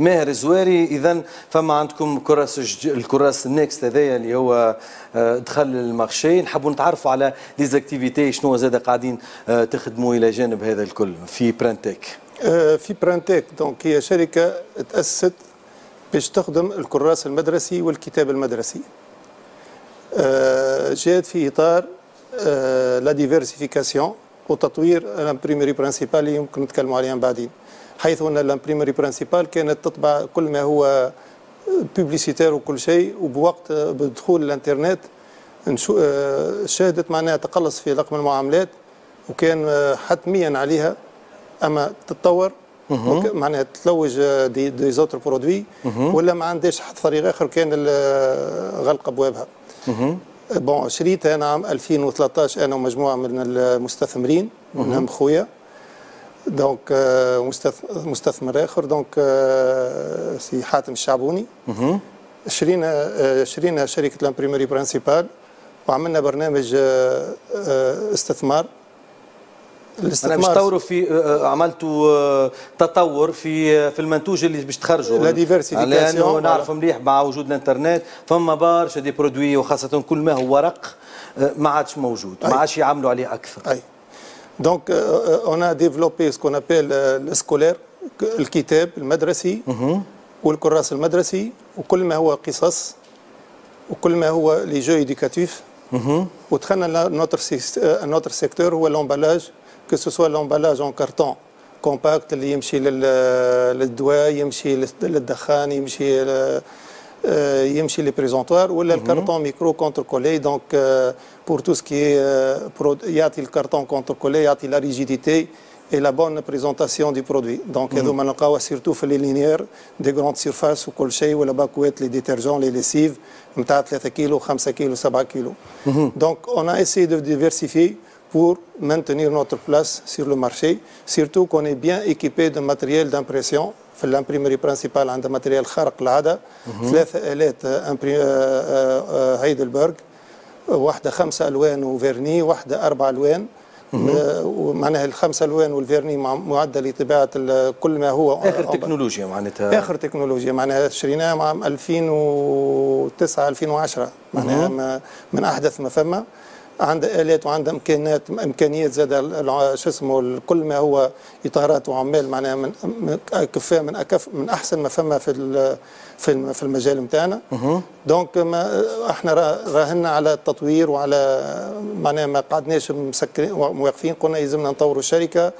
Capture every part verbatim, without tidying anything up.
ماهر الزواري. اذا فما عندكم كراس الكراس النكست هذايا اللي هو آه، دخل ال marché. نحبوا نتعرفوا على les activités، شنو زاد قاعدين آه، تخدموا الى جانب هذا الكل في برانتيك؟ آه، في برانتيك donc هي شركة تاسست باش تخدم الكراس المدرسي والكتاب المدرسي. جات في اطار la diversification وتطوير l'imprimerie principale اللي يمكن نتكلموا عليها بعدين، حيث ان l'imprimerie principale كانت تطبع كل ما هو publicitaire وكل شيء، وبوقت بدخول الانترنت آه، شهدت معناها تقلص في رقم المعاملات، وكان حتميا عليها اما تتطور، معناها تلوج des, des autres produits، ولا ما عندهاش حتى طريق اخر كان غلق ابوابها. bon، شريتها انا عام ألفين وثلاثة عشر انا ومجموعة من المستثمرين، منهم خويا، donc مستثمر اخر، donc سي حاتم الشعبوني. شرينا شرينا شركة l'imprimerie principale وعملنا برنامج استثمار. الاستثمار باش تطوروا في آه، عملتوا آه، تطور في في المنتوج اللي باش تخرجوا. la diversification. لانه نعرف مليح مع وجود الانترنت فما برشا des produits، وخاصة كل ما هو ورق آه، ما عادش موجود، ما عادش يعملوا عليه اكثر. اي، donc on a développé ce qu'on appelle le scolaire، الكتاب المدرسي والكراس المدرسي وكل ما هو قصص وكل ما هو les jeux éducatifs. ودخلنا notre notre secteur هو l'emballage، que ce soit l'emballage en carton compact اللي يمشي للدواء، يمشي للدخان، يمشي يمشي les présentoirs، ولا ال carton micro contrecollé، donc pour tout ce qui يعطي ال carton contrecollé يعطي la rigidité et la bonne présentation du produit. Donc هذوما نلقاوها surtout في les linéaires des grandes surfaces وكل شيء، ولا باكوات les détergents، les lessives نتاع ثلاثة كيلو، خمسة كيلو، سبعة كيلو. donc on a essayé de diversifier pour maintenir notre place sur le marché, surtout qu'on est bien équipé de matériel d'impression. في l'imprimerie principale عندها matériel خارق العاده، ثلاثة الات هايدلبرغ، واحدة خمسة الوان و vernis، واحدة اربع الوان. ومعناها الخمسة الوان وال vernis معده لطباعه كل ما هو اخر تكنولوجيا معناتها. اخر تكنولوجيا، معناها شريناها عام ألفين وتسعة ألفين وعشرة، معناها من احدث ما فما. عندها الات وعندها امكانيات امكانيات زاد شو اسمه كل ما هو اطارات وعمال، معناها من كفاء، من أكف من احسن ما فما في في في المجال نتاعنا. donc ما احنا راهنا على التطوير وعلى معناها ما قعدناش مسكرين واقفين، قلنا يلزمنا نطوروا الشركه،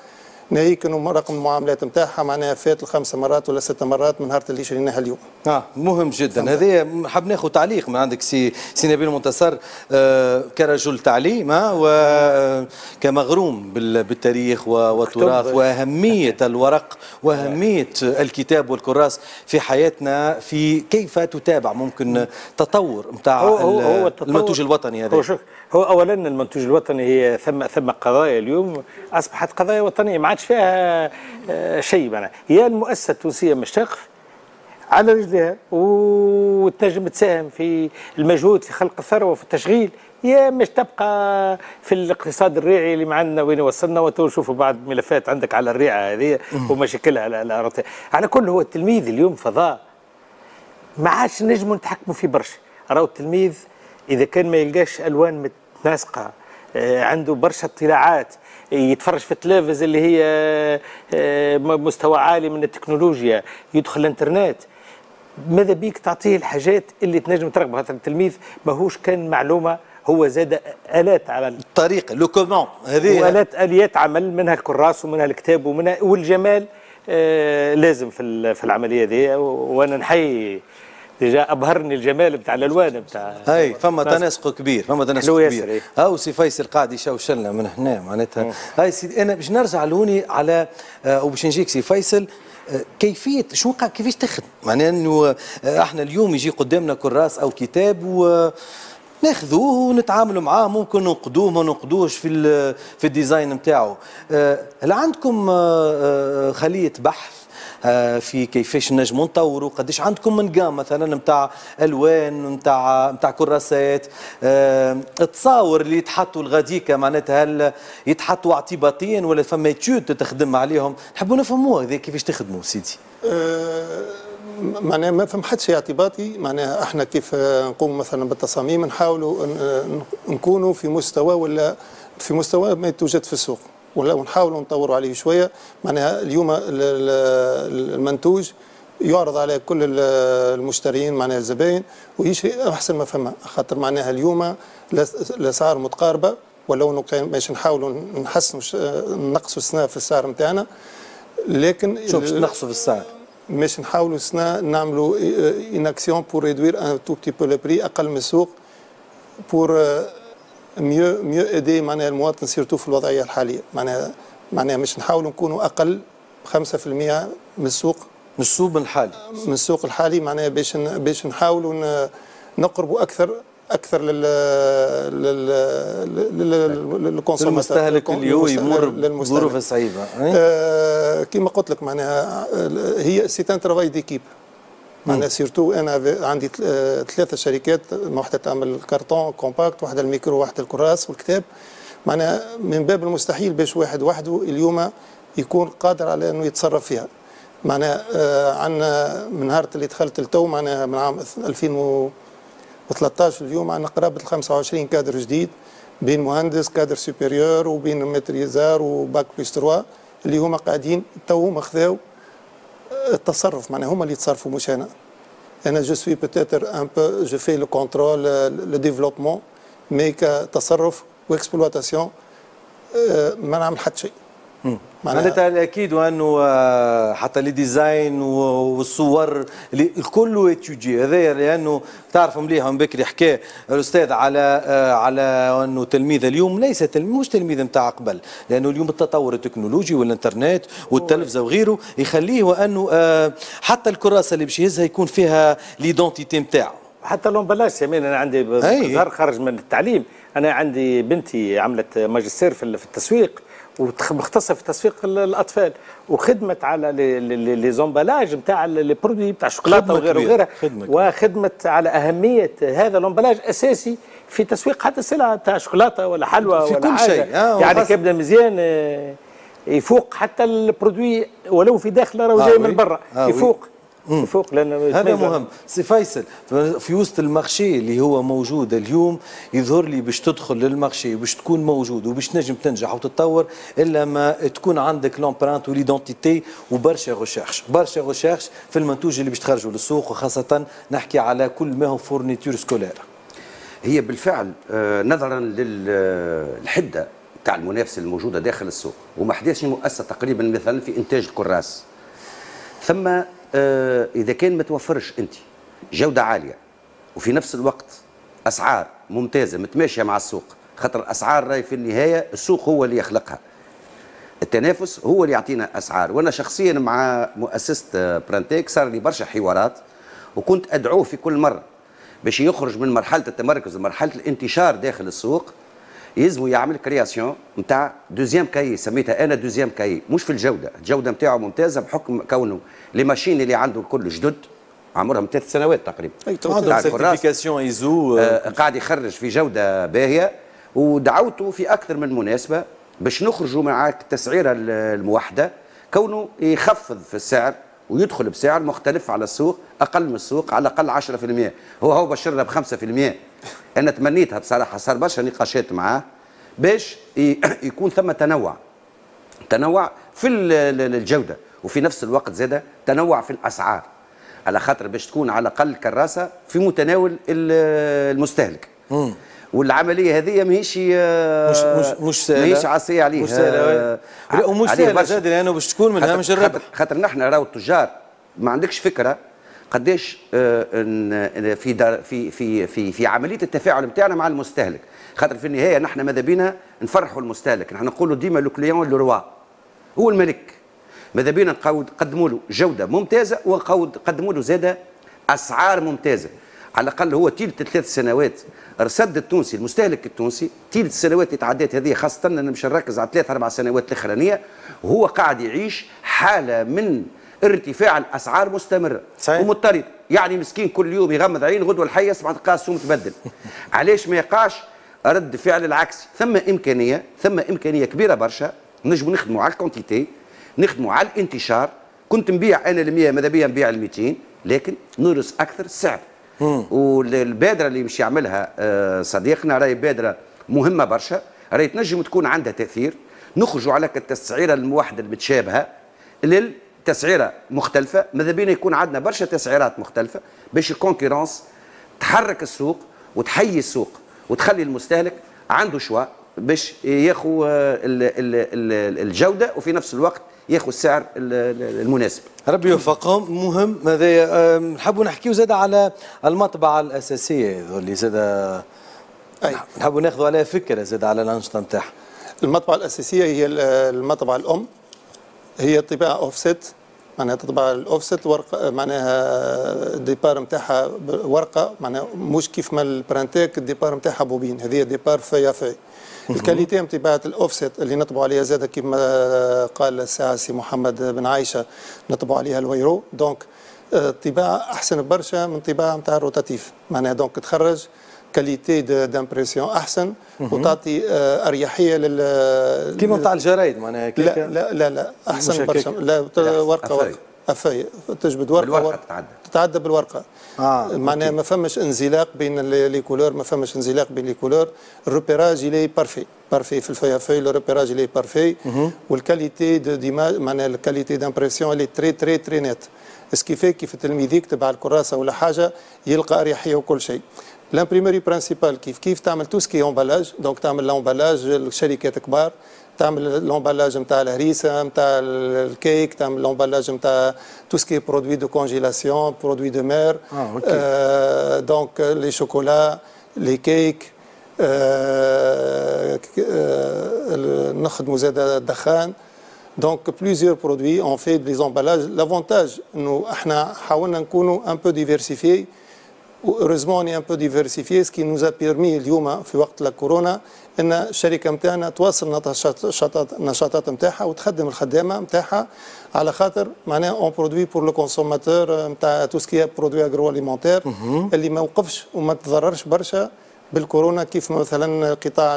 ناهيك انه رقم المعاملات نتاعها معناها فات الخمس مرات ولا ست مرات من نهار اللي شريناها اليوم. اه مهم جدا هذا. حاب ناخذ تعليق من عندك سي سي نبيل منتصر، آه كرجل تعليم وكمغروم بالتاريخ والتراث واهمية الورق واهمية الكتاب والكراس في حياتنا، في كيف تتابع ممكن تطور نتاع المنتوج الوطني هذا؟ هو شوف، هو اولا المنتوج الوطني هي ثم ثم قضايا اليوم اصبحت قضايا وطنية ما عادش فيها آه، شيء، معناها هي المؤسسة التونسية مش تقف على رجلها وتنجم تساهم في المجهود في خلق الثروة وفي التشغيل، يا مش تبقى في الاقتصاد الريعي اللي معنا وين وصلنا. وتو نشوفوا بعض ملفات عندك على الريعه هذه ومشاكلها على على كل. هو التلميذ اليوم فضاء ما عادش نجموا نتحكموا فيه برشا. راهو التلميذ اذا كان ما يلقاش الوان متناسقه، آه، عنده برشا اطلاعات، يتفرج في التلفز اللي هي آه، مستوى عالي من التكنولوجيا، يدخل الانترنت، ماذا بيك تعطيه الحاجات اللي تنجم ترغب، خاطر التلميذ ماهوش كان معلومه، هو زاد الات عمل. الطريقه، le comment هذه. والات اليات عمل، منها الكراس ومنها الكتاب ومنها والجمال آه لازم في في العملية دي. وانا نحيي، déjà ابهرني الجمال بتاع الالوان بتاع اي، فما تناسق كبير، فما تناسق كبير. إيه. هاو سي فيصل قاعد يشوشلنا من هنا معناتها. هاي سيدي، انا باش نرجع لهوني على آه وباش نجيك سي فيصل، آه، كيفية شو كيفاش تخدم، معناها انه آه، احنا اليوم يجي قدامنا كراس او كتاب و ناخذوه ونتعاملوا معاه، ممكن ننقدوه ما ننقدوش في في ال design نتاعو. آه، هل عندكم خليه بحث في كيفاش نجموا نطوروا؟ قداش عندكم من gamme مثلا نتاع الوان، نتاع نتاع كراسات، التصاور اللي يتحطوا الغاديكا، معناتها هل يتحطوا اعتباطيا ولا فما étude تخدم عليهم؟ نحبوا نفهموا هذا كيفاش تخدموا سيدي. أه معناها ما فما حتى شيء اعتباطي. معناها احنا كيف نقوم مثلا بالتصاميم نحاولوا نكونوا في مستوى ولا في مستوى ما يتوجد في السوق، ولا ونحاولوا نطوروا عليه شوية. معناها اليوم المنتوج يعرض على كل المشترين معناها الزباين ويشري احسن ما فما، خاطر معناها اليوم الاسعار متقاربة، ولو باش نحاولوا نحسنوا نقصوا السنة في السعر نتاعنا، لكن شو باش تنقصوا في السعر؟ باش نحاولوا السنة نعملوا une action pour réduire un tout petit peu le prix اقل من السوق pour mieux mieux aider معناها المواطن surtout في الوضعية الحالية. معناها معناها مش نحاولوا نكونوا اقل خمسة في المية من السوق، من السوق الحالي، من السوق الحالي، معناها باش باش نحاولوا نقربوا اكثر اكثر لل لل لل consommateur، للمستهلك اللي هو يمر بظروف صعيبة. آه كما قلت لك معناها هي c'est un travail d'équipe. معناها surtout انا عندي ثلاثة شركات، واحدة تعمل carton compact، واحدة الميكرو، واحدة الكراس والكتاب. معناها من باب المستحيل باش واحد وحده اليوم يكون قادر على انه يتصرف فيها. معناها آه عندنا من نهار اللي دخلت التو، معناها من عام ألفين وثلاثة عشر اليوم عندنا قرابة خمسة وعشرين كادر جديد، بين مهندس cadre supérieur وبين maîtrisard و bac plus trois، اللي هما قاعدين تو هما خذاو التصرف، معناها هما اللي يتصرفوا مش انا. انا je suis peut-être un peu je fais le contrôle، le développement، mais كتصرف و exploitation ما نعمل حتى شيء. معناتها الاكيد وانه حتى les designs والصور الكل étudié هذايا، لانه تعرفوا مليح من بكري حكى الاستاذ على على انه تلميذ اليوم ليس تلميذ، مش تلميذ نتاع قبل، لانه اليوم التطور التكنولوجي والانترنت والتلفزه وغيره يخليه وانه حتى الكراسة اللي باش يهزها يكون فيها l'identité نتاعو. حتى l'emballage سمين، انا عندي ظهر خارج من التعليم، انا عندي بنتي عملت ماجستير في التسويق ومختصه في تسويق الاطفال، وخدمت على les emballages نتاع les produits نتاع الشوكولاتة وغيره وغيرها، وخدمت على اهمية هذا l'emballage اساسي في تسويق حتى السلعة نتاع شوكولاتة ولا حلوى في ولا كل حاجة. شيء آه يعني كبده مزيان يفوق حتى ال produit ولو في داخله راهو جاي آه من برا آه يفوق يفوق لان هذا مهم. سي فيصل، في وسط ال marché اللي هو موجود اليوم يظهر لي باش تدخل لل marché باش تكون موجود وباش تنجم تنجح وتتطور الا ما تكون عندك l'empreinte و l'identité وبرشا recherche، برشا recherche في المنتوج اللي باش تخرجوا للسوق، وخاصة نحكي على كل ما هو fournitures scolaires. هي بالفعل نظرا للحده تاع المنافسة الموجودة داخل السوق، وما حداش مؤسسة تقريبا مثلا في انتاج الكراس، ثم إذا كان ما توفرش أنت جودة عالية وفي نفس الوقت أسعار ممتازة متماشية مع السوق، خاطر الأسعار راهي في النهاية السوق هو اللي يخلقها، التنافس هو اللي يعطينا أسعار. وأنا شخصيا مع مؤسسة برانتيك صار لي برشا حوارات، وكنت أدعوه في كل مرة باش يخرج من مرحلة التمركز لمرحلة الانتشار داخل السوق، يلزمو يعمل création نتاع deuxième cahier، سميتها انا deuxième cahier، مش في الجودة، الجودة نتاعو ممتازة بحكم كونه les machines اللي عنده الكل جدد عمرهم ثلاث سنوات تقريبا، عندهم certification ISO، آه قاعد يخرج في جوده باهيه. ودعوته في اكثر من مناسبة باش نخرجوا معاك التسعيره الموحدة، كونه يخفض في السعر ويدخل بسعر مختلف على السوق، اقل من السوق على الاقل عشرة في المية. هو هو بشرنا ب خمسة في المية. انا تمنيتها بصراحة، صار برشا نقاشات معاه باش يكون ثم تنوع، تنوع في الجودة وفي نفس الوقت زاده تنوع في الاسعار، على خاطر باش تكون على الاقل كراسة في متناول المستهلك. مم. والعملية هذه ماهيش مش مش مش سهلة، ماهيش عصية عليه، مش سهلة ومش سهلة زاد، لانه باش تكون من هامش الربح. خاطر نحن راهو التجار ما عندكش فكرة قداش في دار في في في في عملية التفاعل نتاعنا مع المستهلك، خاطر في النهاية نحن ماذا بينا نفرحوا المستهلك، نحن نقولوا ديما le client le roi، هو الملك. ماذا بينا نقدموا له جوده ممتازة ونقدموا له زاده اسعار ممتازة. على الاقل هو تيلة ثلاث سنوات رصد التونسي المستهلك التونسي تيلة السنوات اللي تعدات هذه، خاصة انا مش نركز على ثلاث اربع سنوات الاخرانية، وهو قاعد يعيش حاله من ارتفاع الاسعار مستمرة ومضطرد، يعني مسكين كل يوم يغمض عين غدوه الحي يسمع تلقاه السوم تبدل. علاش ما يقعش رد فعل العكسي؟ ثم امكانية، ثم امكانية كبيرة برشا نجموا نخدموا على ال quantité، نخدموا على الانتشار. كنت نبيع انا ال مية ماذا بيا نبيع ال ميتين، لكن ندرس اكثر السعر. والبادره اللي مش يعملها آه، صديقنا راهي بادره مهمة برشا، راهي تنجم تكون عندها تاثير. نخرجوا على التسعيره الموحدة المتشابهة للتسعيره مختلفة، ماذا بينا يكون عندنا برشا تسعيرات مختلفة باش ال concurrence تحرك السوق وتحيي السوق وتخلي المستهلك عنده choix باش ياخذ الجودة وفي نفس الوقت ياخذ السعر المناسب. ربي يوفقهم. مهم هذا. نحبوا نحكيو زاد على المطبعة الاساسية اللي زاد نحبوا ناخذوا عليها فكرة زاد على الانشطة نتاعها. المطبعة الاساسية هي المطبعة الام، هي طباعه اوفست، معناها تطبع الاوفست ورقه، معناها ال départ نتاعها ورقه، معناها مش كيف ما ال Printec ال départ نتاعها بوبين، هذه départ feuille à feuille. ال qualité نتاع الاوفست اللي نطبعوا عليها زاد كيما قال الساعة سي محمد بن عايشه نطبعوا عليها الويرو، donc الطباعة احسن برشا من طباعه نتاع ال rotatif، معناها donc تخرج qualité d'impression احسن وتعطي آه، اريحية لل كيما نتاع الجرايد معناها. لا لا لا لا احسن برشا، لا ورقة ورقة à feuille تجبد ورقة بالورقة تتعدى تتعدى بالورقة. آه معناها ما فماش انزلاق بين les couleurs، ما فماش انزلاق بين les couleurs، ال repérage il est parfait parfait في ال feuille à feuille، le repérage il est parfait وال qualité de d'image معناها ال qualité d'impression elle est très très très nette، ce qui fait كيف التلميذ يكتب على الكراسة ولا حاجة يلقى اريحية وكل شيء. l'imprimerie principale كيف كيف تعمل tout ce qui est emballage، donc تعمل l'emballage الشركات كبار، تعمل l'emballage نتاع الهريسه نتاع الكيك، تعمل l'emballage نتاع tout ce qui est produits de congélation، produits de mer، donc les chocolats، les cakes، آه نخدموا زاد الدخان، donc plusieurs produits، on fait des emballages. l'avantage انه احنا حاولنا نكونوا un peu diversifiés، heureusement on est un peu diversifié، ce qui nous a permis اليوم في وقت الكورونا ان الشركة نتاعنا تواصل النشاطات نتاعها وتخدم الخدامة نتاعها، على خاطر معناها on produit pour le consommateur نتاع tout ce qui est produits agroalimentaires اللي ما وقفش وما تضررش برشا بالكورونا، كيف مثلا قطاع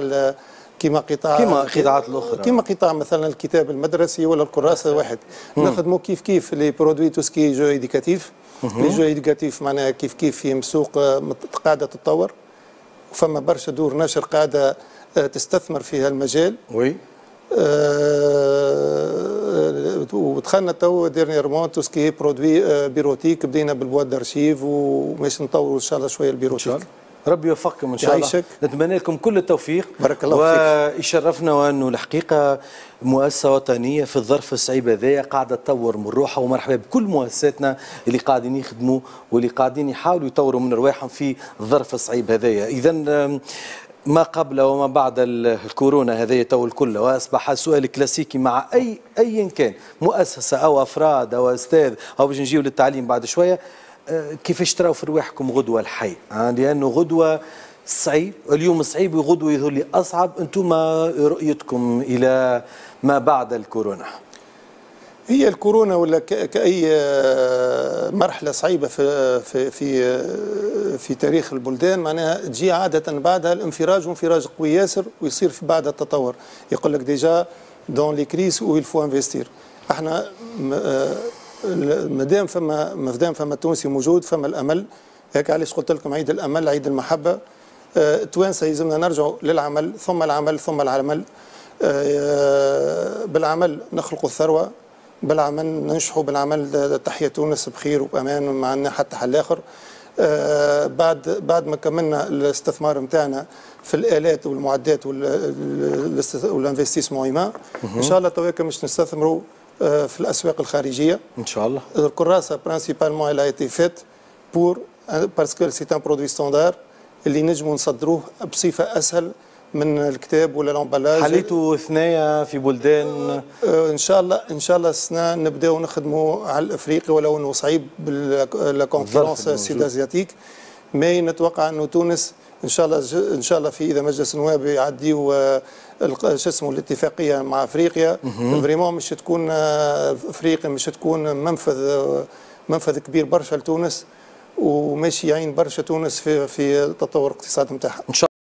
كما قطاع كما القطاعات الاخرى، كما قطاع مثلا الكتاب المدرسي ولا الكراسة واحد. نخدموا كيف كيف les produits tout ce qui est jeux éducatifs، les jeux éducatifs معناها كيف كيف في سوق قاعدة تتطور، وفما برشا دور نشر قاعدة آه، تستثمر في هالمجال. oui آه ودخلنا تو dernièrement tout ce qui est produits bureautiques، بدينا بال boîtes d'archives وماش نطوروا ان شاء الله شوية ال bureautique. ربي يوفقكم ان شاء الله، نتمنى لكم كل التوفيق. بارك الله فيك. ويشرفنا وانه الحقيقة مؤسسة وطنية في الظرف الصعيب هذايا قاعدة تطور من روحها، ومرحبا بكل مؤسساتنا اللي قاعدين يخدموا واللي قاعدين يحاولوا يطوروا من رواحهم في الظرف الصعيب هذايا. اذا ما قبل وما بعد الكورونا هذا تو الكل، واصبح سؤال كلاسيكي مع اي ايا كان مؤسسة او افراد او استاذ او باش نجيو للتعليم بعد شوية، آه، كيفاش تراو في رواحكم غدوه الحي؟ آه، لانه غدوه صعيب، اليوم صعيب وغدوه يظهر لي اصعب. انتم رؤيتكم الى ما بعد الكورونا؟ هي الكورونا ولا كأي آه، مرحلة صعيبة في في في في تاريخ البلدان معناها تجي عادة بعدها الانفراج، وانفراج قوي ياسر، ويصير في بعد التطور. يقول لك déjà dans les crises où il faut investir. احنا مادام فما مادام فما تونسي موجود فما الامل، هيك علاش قلت لكم عيد الامل عيد المحبة. التوانسة يلزمنا نرجعوا للعمل ثم العمل ثم العمل. آه، بالعمل نخلق الثروه، بالعمل ننجحوا، بالعمل تحيا تونس بخير وبامان، ما عندنا حتى حل اخر. آه، بعد بعد ما كملنا الاستثمار نتاعنا في الالات والمعدات وال investissement humain، ان شاء الله تويكا مش نستثمروا آه، في الاسواق الخارجيه. ان شاء الله. الكراسة principalement elle a été faite pour parce que c'est un produit standard اللي نجموا نصدروه بصفة اسهل من الكتاب ولا l'emballage. حليتوا ثنايا في بلدان؟ آه، ان شاء الله ان شاء الله السنة نبداو نخدموا على الافريقي، ولو انه صعيب ب la concurrence sud-asiatique، mais نتوقع انه تونس ان شاء الله ان شاء الله في اذا مجلس النواب يعديوا آه، شو اسمه الاتفاقية مع افريقيا، vraiment مش تكون آه، افريقيا مش تكون منفذ منفذ كبير برشا لتونس، وماشي يعين برشا تونس في في تطور الاقتصاد نتاعها. ان شاء